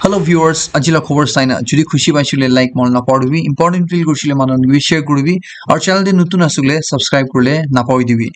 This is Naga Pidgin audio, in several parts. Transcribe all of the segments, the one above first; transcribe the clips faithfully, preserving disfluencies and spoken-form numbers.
Hello viewers, aji la khobor saina jodi khushi paisile like manu napahoribi, important feel kurisile manu khan ke share kuribi, aru channel te notun asile subscribe kurile napahoribi.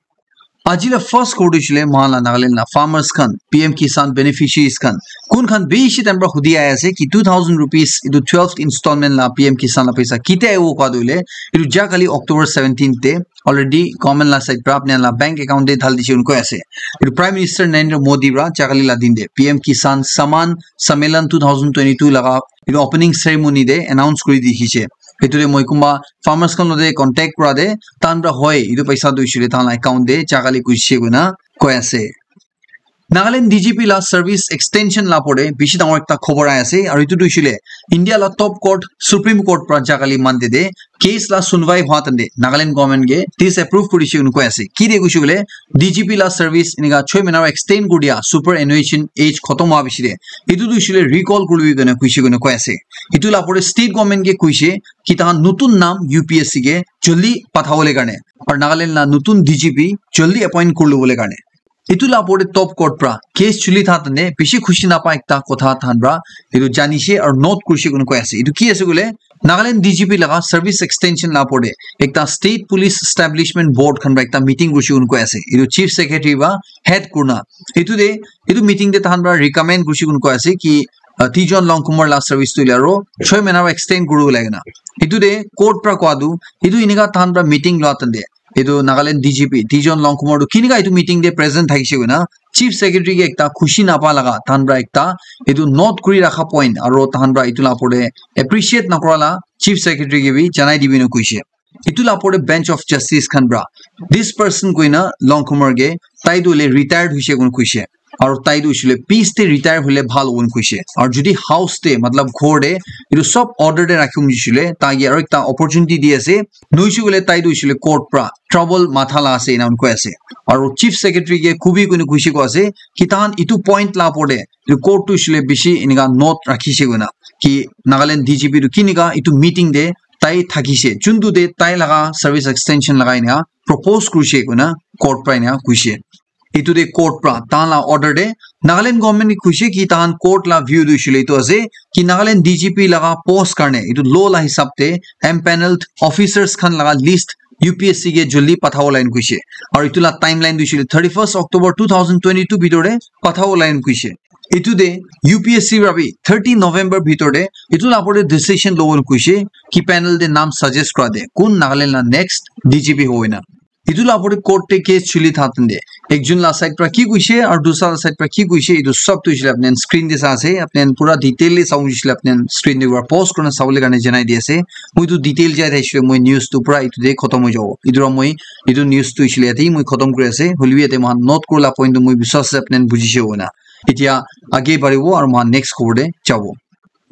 Aji la first khobor tu hoisile moikhan la Nagaland la farmers khan, P M Kisan beneficiaries khan, kun khan bishi time pra hudi ahi ase ki two thousand rupees etu twelfth installment la P M Kisan la paisa kitia ahibo koa tu hoile, etu ja kali October seventeen te already government la side pra apni la bank account te dhali dise koi ase. Etu Prime Minister Narendra Modi pra ja kali la din te P M Kisan Samman Sammelan two thousand twenty-two laga etu opening ceremony te announce kuri dikhi se. Etu te moi kunba farmers khan lote contact kura te, tahan pra hoi etu paisa tu hoisile tahan la account te ja kali kurise koina koi ase. Nagaland D G P la service extension la opor te bishi dangor ekta khobor ahi ase, aru etu tu hoisile India la top court, Supreme Court pra ja kali Monday te case la sunwai hua time te Nagaland government ke disapprove kurise koina koi ase. Ki de koise koile, D G P la service enika choi mahina extend kuri dia superannuation age khotom hua piche te, etu tu hoisile recall kuribi koina koise koina koi ase. Etu la opor te state government ke koise ki tahan notun naam U P S C ke jaldi pathabole karne, aru Nagaland la notun D G P jaldi appoint kuri lobole karne. Etu la opor te top court pra case chuli tha tane bishi khushi napa ekta kotha tahan pra etu jani se aru note kurise koina koi ase. Etu ki ase koile, Nagaland D G P laga service extension la opor te ekta state police establishment board khan pra ekta meeting kurise koina koi ase. Etu chief secretary pra head kurina, etu te, etu meeting te tahan pra recommend kurise koina koi ase ki, uh, Tejon Longkumer la service tu hoile aru choi mahina extend kuribo lage na. Etu te court pra koa tu, etu enika tahan pra meeting lua tande etu Nagaland D G P Tejon Longkumer tu kinika etu meeting te present thakise koina chief secretary ke ekta khushi napa laga tahan pra ekta etu note kuri rakha point aru tahan pra etu la opor te appreciate nakura la chief secretary ke bi janai dibi na koise. Etu la opor te bench of justice khan pra this person koina Longkumer ke, tai tu hoile retired hoise koina koise. Aru tai tu hoisile peace te retire hoile bhal hobo koise. Aru jodi house te, matlab ghor te, etu sob order te rakhibole hoisile, tai ke aru ekta opportunity di ase. Nohoise koile tai tu hoisile court pra trouble matha la ase, ena koi ase. Aru chief secretary ke kubi koina koise koi ase ki tahan etu point la opor te etu court tu hoisile bishi enika note rakhise koina ki Nagaland D G P tu kinika etu meeting te tai thakise, juntu te tai laga service extension lagai na propose kurise koina court pra ena koise. Etu te court pra tahan la order te Nagaland government ke koise ki tahan court la view tu hoisile etu ase ki Nagaland D G P laga post karne etu law la hisab te empaneled officers khan laga list U P S C ke jaldi pathabo lage koise. Aru etu la timeline tu hoisile thirty-first October two thousand twenty-two bhitor te pathabo lage koise. Etu te U P S C pra bi thirty November bhitor te etu la opor te decision lobo koise ki panel te naam suggest kura te kun Nagaland la next D G P hobo koina. Etu la opor te court te case chuli tha tande ekjon la side pra ki koise aru dusra la side pra ki koise, etu sob tu hoisile apni khan screen te sa ase, apni khan pura detail te sabo hoisile apni khan screen te para pause kurina sabole karne janai di ase. Moi tu detail jai thakisile moi news tu pura etu te khotom hoi jabo. Etu para moi etu news tu hoisile yate moi khotom kuri ase. Hoilebi yate moikhan note kurila point tu moi biswas ase apni khan bujise koina. Etia age baribo aru moikhan next khobor te jabo.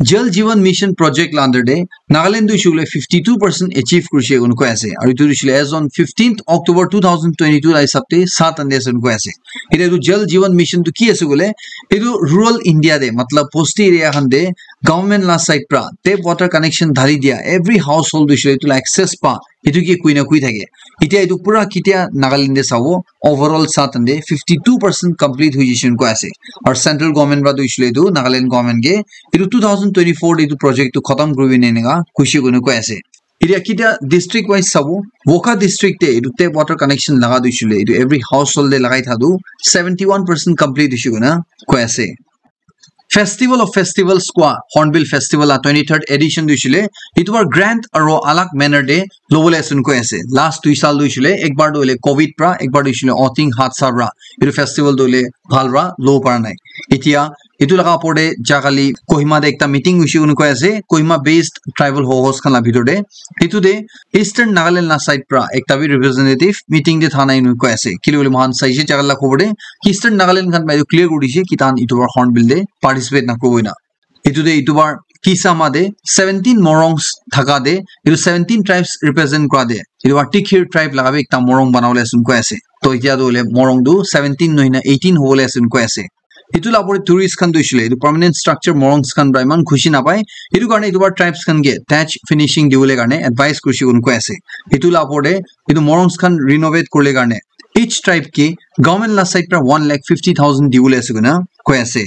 Jal Jeevan Mission project la under te Nagaland tu hoishe koile fifty two percent achieve kurishe koina koi ase. Aru etu hoishe koile as on fifteenth October two thousand twenty-two la hisab te sat ande ase koina koi ase. Etia etu Jal Jeevan Mission tu ki ase koile, etu rural India te, matlab bosti area khan te government la side pra tap water connection dhali dia, every household hoishe koile etu la access pa, etu ke koi na koi thake. Etia etu pura ketia Nagaland te sabo, overall sa tande fifty two percent complete hoi jishe koina koi ase. Aru central government para tu hoishe koile etu Nagaland government ke etu two thousand twenty-four te etu project tu khatam kuri bole eneka koishe koina koi ase. Etia ketia district wise sabo, Wokha district te etu tap water connection laga tu hoishe koile etu every household te lagai tha tu seventy one percent complete hoishe koina koi ase. Festival of Festivals kua Hornbill Festival la twenty third edition tu hoishe koile etu bar grand aro alag manner te lobole ase koina koi ase. Last dui saal tu hoishe koile ekbar tu hoile covid pra, ekbar tu hoishe koile Aoteng Hatsa pra. Etu festival tu hoile bhal pra lobo para nai. Etia etu laga opor te ja kali Kohima te ekta meeting hoishe koina koi ase, Kohima based tribal ho-, host khan la bhitor te. Etu te Eastern Nagaland la side pra ekta bi representative meeting te tha nai koina koi ase. Kile koile moikhan saishe ja kali la khobor te Eastern Nagaland khan para etu clear kuri dishe ki tahan etu bar Hornbill te participate nakuribo koina. Etu te etu bar Kisama te seventeen Morongs thaka te etu seventeen tribes represent kura te etu bar Tikhir tribe laga bi ekta Morong banabole ase koina koi ase. To etia tu hoile Morong tu seventeen nohoi na eighteen hobole ase koina koi ase. Etu la opor te tourist khan tu hoishe koile etu permanent structure Morongs khan para eman khushi napai. Etu karne etu bar tribes khan ke thatch finishing dibole karne advice kurishe koina koi ase. Etu la opor te etu Morongs khan renovate kuribole karne each tribe ke government la side para one lakh fifty thousand dibole ase koina koi ase.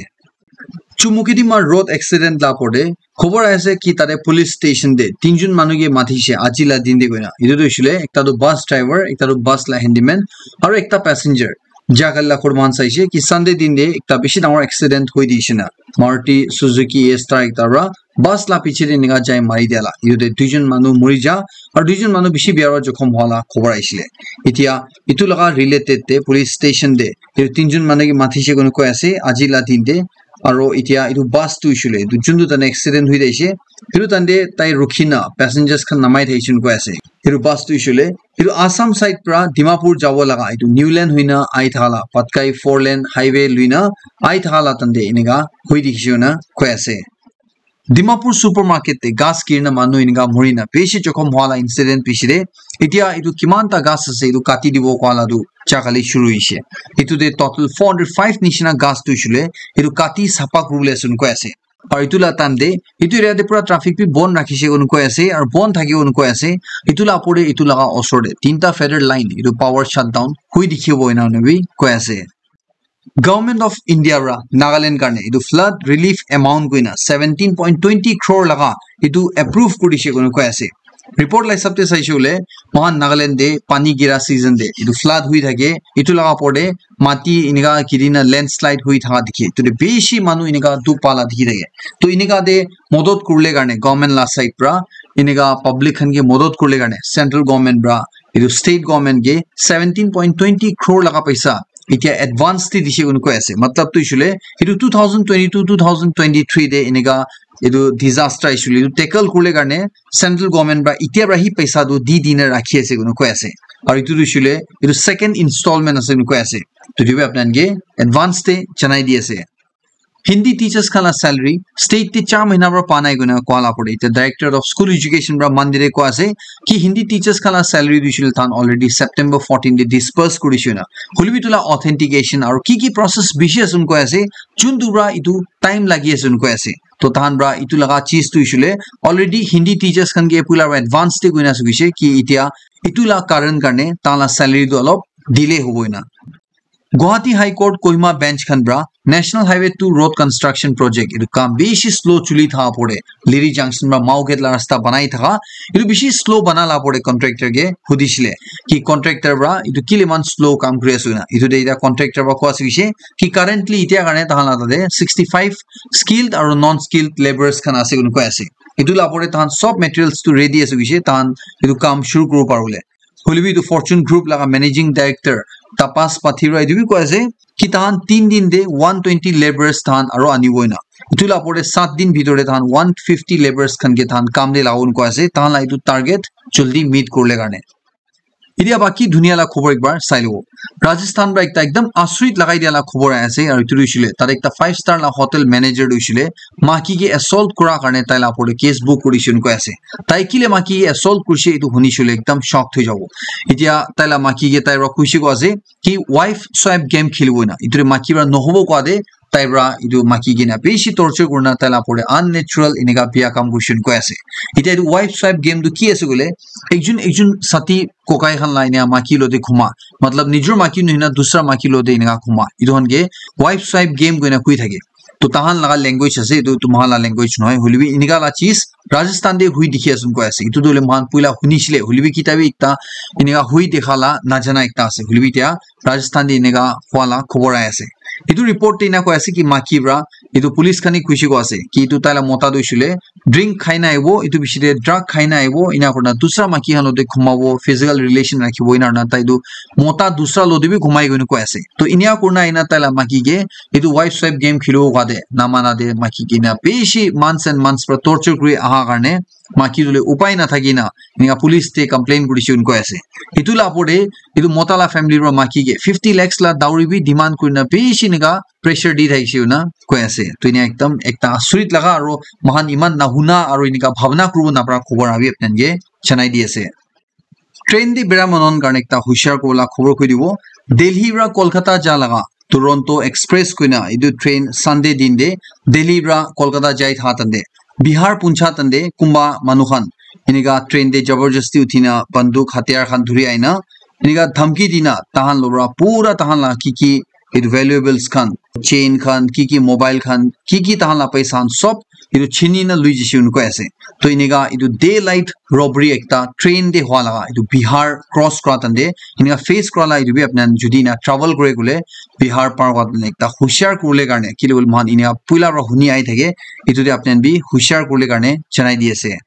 Chumukidima road accident la pore khobor ase ki tate police station te tinjun manu ke matishe aji la din te koina. Etu tu hoishe le ekta tu bus driver, ekta tu bus la handyman, aro ekta passenger. Jagal la khor mohan saishe ki Sunday din te ekta bishi dangor accident hoi dishe na. Maruti Suzuki A-Star ekta ra bus la piche te enika jai mari dia la. Etu te duijon manu mori ja, aro duijon manu bishi bia ra jokhom hwa la khobor aishe le. Etia etu laga related te police station te etu tinjun manu ke matishe koina koi ase aji la din te. Aro etia etu bus tu hoishe le etu juntu tane accident hoi jaise, etu tande tai rukhi na passengers khan namai thakishe koina koi ase. Etu bus tu hoishe le etu Assam side pra Dimapur jabo laga etu new lane hoina ahi thaka la Patkai four lane highway luina ahi thaka la tande enika hoi dikhishe koina koi ase. Dimapur supermarket te gas girina manu enika murina bishi jokhom hwa la incident piche te etia etu kiman ta gas ase etu kati dibo koa la tu jagale shuru hoishe. Etu te total four hundred five nishina gas tu hoishe le etu kati sapa kuribole ase koina koi ase. Aru etu la time te etu area te pura traffic bi bon rakhishe koina koi ase aru bon thakibo koina koi ase. Etu la opor te etu laga osor te tinta federal line etu power shutdown hoi dikhibo enika bi koi ase. Government of India ra Nagaland karne etu flood relief amount koina seventeen point twenty crore laga etu approve kuri dishe koina koi ase. Report la hisab te saishe koile mohan Nagaland te pani gira season te etu flood hui thake, etu laga opor te mati enika giri na landslide hui thaka dikhe, etu te bishi manu enika dukh pa la dikhi thake. To enika te modot kuribole karne government la side pra enika public khan ke modot kuribole karne central government pra etu state government ke seventeen point twenty crore laga paisa etia advance te dishe koina koi ase. Matlab tu hoishe le etu two thousand twenty-two two thousand twenty-three te enika etu disaster ahishe le etu tackle kuribole karne central government pra etia pra hi paisa tu di dina rakhi ase koina koi ase. Aru etu tu hoishe le etu second installment ase koina koi ase. To etu bi apni khan ke advance te janai di ase. Hindi teachers khan la salary state te char mahina pra pa nai koina koa la pore. Etia director of school education pra Monday te koa ase ki Hindi teachers khan la salary tu hoishe le tahan already September fourteen te disperse kuri dishe koina. Hoile bi etu la authentication aru ki ki process bishi ase koina koi ase, juntu pra etu time lagi ase koina koi ase. To tahan pra etu laga cheese tu hoishe le already Hindi teachers khan ke puila pra advance te koina ase koishe ki etia etu la karan karne tahan la salary tu olop delay hobo koina. Guwahati High Court Kohima Bench khan pra National Highway two road construction project etu kam bishi slow chuli thaka pore, Liri Junction pra Mao Gate la rasta banai thaka etu bishi slow bana la pore contractor ke hudishe le ki contractor pra etu kile eman slow kam kuri ase koina. Etu te etia contractor pra koa ase koishe ki currently etia karne tahan la tate sixty five skilled aru non skilled labourers khan ase koina koi ase. Etu la pore tahan sob materials tu ready ase koishe, tahan etu kam shuru kuribo paribole. Hoile bi etu Fortune Group laga managing director Tapas Pathira etu bi koi ase ki tahan tin din te one twenty labourers tahan aro anibo koina. Etu la opor te sat din bhitor te tahan one fifty labourers khan ke tahan kam te lagabo koina koi ase. Tahan la etu target jaldi meet kuribole karne. Etia baki dunia la khobor ekbar sai lobo. Rajasthan pra ekta ekdam asrit lagai dia la khobor ahi ase aru etu tu hoishe le tate ekta five star la hotel manager tu hoishe le maki ke assault kura karne tai la opor te case book kuri dishe koina koi ase. Tai kile maki ke assault kurishe etu huni shile ekdam shock thoi jabo. Etia tai la maki ke tai pra kuishe koa ase ki wife swipe game khelibo koina. Etu te maki pra nohobo koa te tai pra etu maki ke na bishi torture kurina tai la opor te unnatural enika bia kam kurishe koina koi ase. Etia etu wife swipe game tu ki ase koile ekjon ekjon sati kokai khan la enika maki lote khuma. Matlab nijor maki nohoi na dusra maki lote enika khuma. Etu khan ke wife swipe game koina koi thake. To tahan laga language ase, etu tu mohan la language nohoi. Hoile bi enika la cheese Rajasthan te hui dikhi ase koina koi ase. Etu tu hoile mohan puila huni shile. Hoile bi kita bi ekta enika hui dekha la najana ekta ase. Hoile bi etia Rajasthan te enika hua la khobor ahi ase. Etu report te enika koi ase ki maki pra etu police khan he kuishe koa ase ki etu tai la mota tu hoishe le drink khai na ahibo, etu piche te drug khai na ahibo, ena kurina dusra maki khan lote khumabo, physical relation rakhibo, ena kurina tai tu mota dusra lote bi khumai koina koi ase. To enia kurina ena tai la maki ke etu wife swipe game khelibo koa te namana te maki ke na bishi months and months pra torture kuri aha karne maki tu le upai na thaki na enika police te complain kurishe koina koi ase. Etu la opor te etu mota la family pra maki ke fifty lakhs la dowry bi demand kurina bishi enika pressure di thakishe koina koi ase. To enia ekdam ekta asrit laga aro mohan eman nahuna aro enika bhabna kuribo napara khobor abi apni khan ke janai di ase. Train te bera manu khan karne ekta hushar kuribo la khobor koi dibo. Delhi pra Kolkata ja laga Duronto Express koina etu train Sunday din te Delhi pra Kolkata jai tha tande Bihar puncha tande kunba manu khan enika train te jabardasti uthina banduk hatiyar khan dhuri aina enika dhamki dina tahan lobra pura tahan la ki ki etu valuables khan, chain khan, ki ki mobile khan, ki ki tahan la paisa khan sob etu chini na lui jishe koi ase. To inika etu daylight robbery ekta train te hua laga, etu Bihar cross kura tante inika face kura la, etu bi apni khan jodi na travel kure kule Bihar par kura tante ekta hushar kurle karne, kile bole moikhan inika puila para huni ahi thake, etu te apni khan bi hushar kurle karne janai di ase.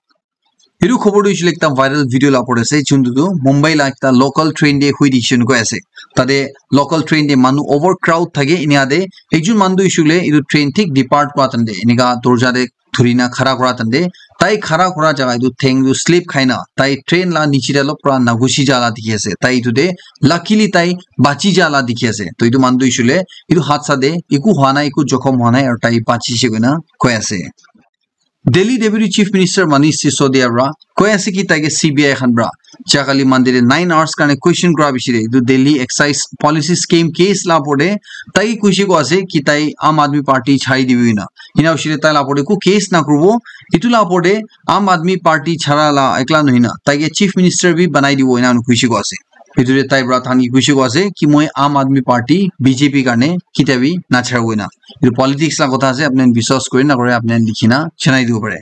Etu khobor tu hoishe le ekta viral video la opor te ase, juntu tu Mumbai la ekta local train te hui dikhi koi ase. Tate local train te manu overcrowd thake, inika te ekjun manu tu hoishe le etu train thik depart kura time te inika dorja te dhuri na khara kura time te, tai khara kura jaga etu theng tu slip khai na tai train la niche te olop pura nagusi ja la dikhi ase. Tai etu te luckily tai bachi ja la dikhi ase. To etu manu tu hoishe le etu hadsa te eku hua nai, eku jokhom hua nai, aru tai bachi she koina koi ase. Delhi Deputy Chief Minister Manish Sisodia para koi ase ki taike C B I khan para jahakali Monday te nine hours karne question kura bishi te etu Delhi Excise Policy Scheme case la opor te tai koise ko ase ki tai Aam Aadmi Party chari dibi na. Ina hoishe le tai la opor te eku case na kuribo. Etu la opor te Aam Aadmi Party chara la ekla nohoi na taike Chief Minister bi banai dibo ina koise ko ase. Etu te tai para tani koise ko ase ki moi Aam Aadmi Party, B J P karne kitia bi nachari bo ina. Etu politics la kotha ase, apni khan biswas kure na kure apni khan likhi na janai dibo pare.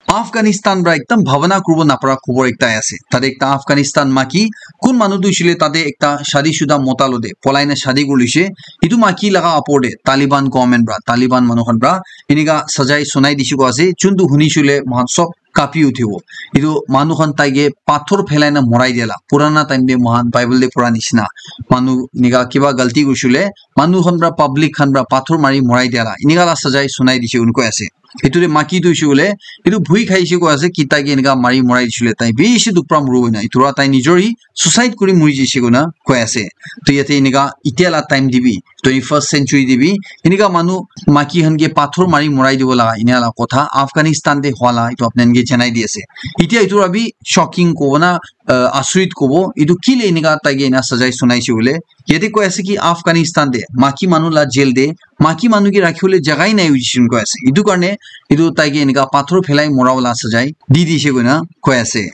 Afghanistan para ekdam bhabana kuribo napara khobor ekta ahi ase. Tate ekta Afghanistan maki kun manu tu hoishe le tate ekta shadi shuda mota lo te polai na shadi kuri loishe. Etu maki laga opor te Taliban government para, Taliban manu khan para enika sajai sunai dishe ko ase. Juntu huni shule moikhan sob kapi uthibo. Etu manu khan taike pathor phelai na morai dia la. Purana time te moikhan Bible te pura nishina. Manu enika kiba galti kurishe le manu khan para, public khan para pathor mari morai dia la. Enika la sajai sunai dishe koi ase. Etu te maki tu hoishe koile, etu bhui khaishe koi ase, ki taike enika mari morai dishe koile, tai bishi dukh pra moribo ena. Etu pra tai nijor hi suicide kuri mori jaishe koina koi ase. To yate enika, itya la time te bi, twenty-first century te bi, enika manu, maki khan ke pathor mari morai dibo laga, ena la kotha Afghanistan te hwa la, etu apni khan ke janai di ase. Itya etu pra bi shocking kobo na, uh, asuriত kobo, etu kile enika taike ena sajai sunaishe koile, yate koi ase ki Afghanistan te, maki manu la jail te, maki manu ke rakhiwole jaga hi nai hoishe koina koi ase. Etu karne etu taike enika pathor phelai mora wala sajai di dishe koina koi ase.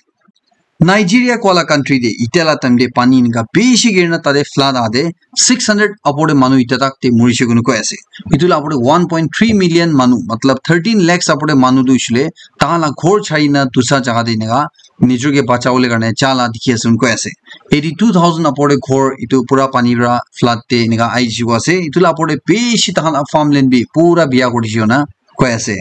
Nigeria koa la country te itya la time te pani enika bishi girina tate flood ahate six hundred upor te manu itya tak te morishe koina koi ase. Etu la upor te one point three million manu, matlab thirteen lakhs upor te manu tu hoishe le tahan la ghor chari na dusra jaga te enika nijor ke bachawole karne ja la dikhi ase koina koi ase. Eighty two thousand upor te ghor etu pura pani pra flood te enika ahi jai ase. Etu la upor te bishi tahan la farmland bi pura biya kuri dishe koina koi ase.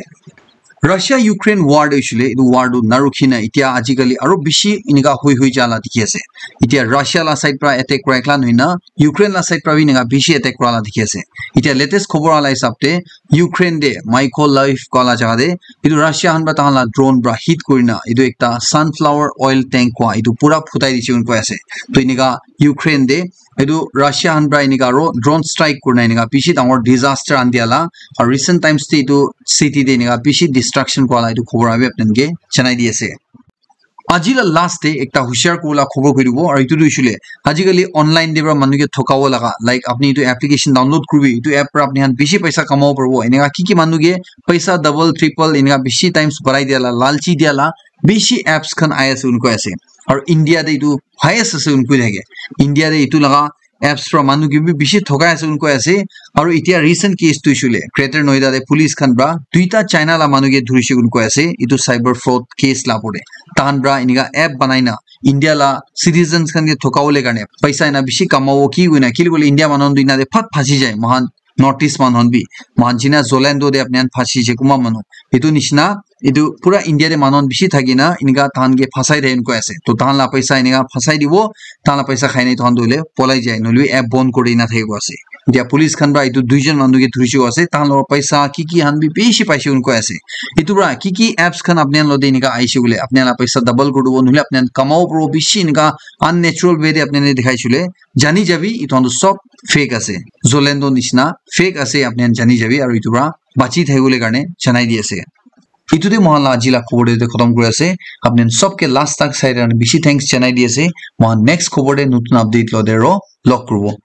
Russia Ukraine war te hoishe le, etu war tu narukhi na, itya ajikali aro bishi enika hoi hoi ja la dikhi ase. Itya Russia la side pra attack kura ekla nohoi na, Ukraine la side pra bi enika bishi attack kura la dikhi ase. Itya latest khobor ala hisab te, Ukraine te Mykolaiv koa la jaga te, etu Russia khan pra tahan la drone pra hit kurina, etu ekta sunflower oil tank koa, etu pura phutai dishe koina koi ase. To enika Ukraine te, etu Russia khan pra enika aro drone strike kurina enika bishi dangor disaster ani dia la, aro recent times te etu city te enika bishi destruction koa la etu khobor abi apni khan ke janai di ase. Aji la last te ekta hushar kuribole khobor koi dibo, aru etu tu hoishe le, ajikali online te pra manu ke thokabo laga, like, apni etu application download kuribi, etu app pra apni khan bishi paisa kamabo paribo, enika ki ki manu ke paisa double, triple, enika bishi times barai dia la, lalchi dia la, bishi apps khan ahi ase koina koi ase. Aru India te etu highest ase koina koi thake. India te etu laga apps pra manu ke bi bishi thokai ase koina koi ase. Aru itya recent case tu hoishe le, Greater Noida te police khan pra duita China la manu ke dhurishe koina koi ase. Etu cyber fraud case la upor te. Tahan pra enika app banai na India la citizens khan ke thokawole karne paisa ena bishi kamabo ki koina, kile koile India manu khan tu ena te phat phasi jai. Moikhan North East manu khan bi, moikhan jina Zalando te apni khan phasi je kunba manu. Etu nishina, etu pura India te manu khan bishi thaki na, enika tahan ke phasai thake koina koi ase. To tahan la paisa enika phasai dibo, tahan la paisa khai na tahan tu hoile polai jai, nohole app bon kuri na thaki bo ase. Etya police khan pra etu duijon manu ke dhurishe koina ase, tahan la paisa ki ki khan bi bishi paishe koina koi ase. Etu pra ki ki apps khan apni khan lo te enika ahishe koile, apni khan la paisa double kuri dibo, nohole apni khan kamabo paribo bishi enika unnatural way te apni khan ke dikhai shey koile, jani jabi, etu khan tu sob fake ase. Zalando nishina fake ase, apni khan jani jabi, aru etu pra bachi thakibole karne janai di ase. Etu te moikhan la aji la khobor te khotom kuri ase. Apni khan sob ke last tak sai karne bishi thanks janai di ase. Moikhan next khobor te notun update lo te aro log kuribo.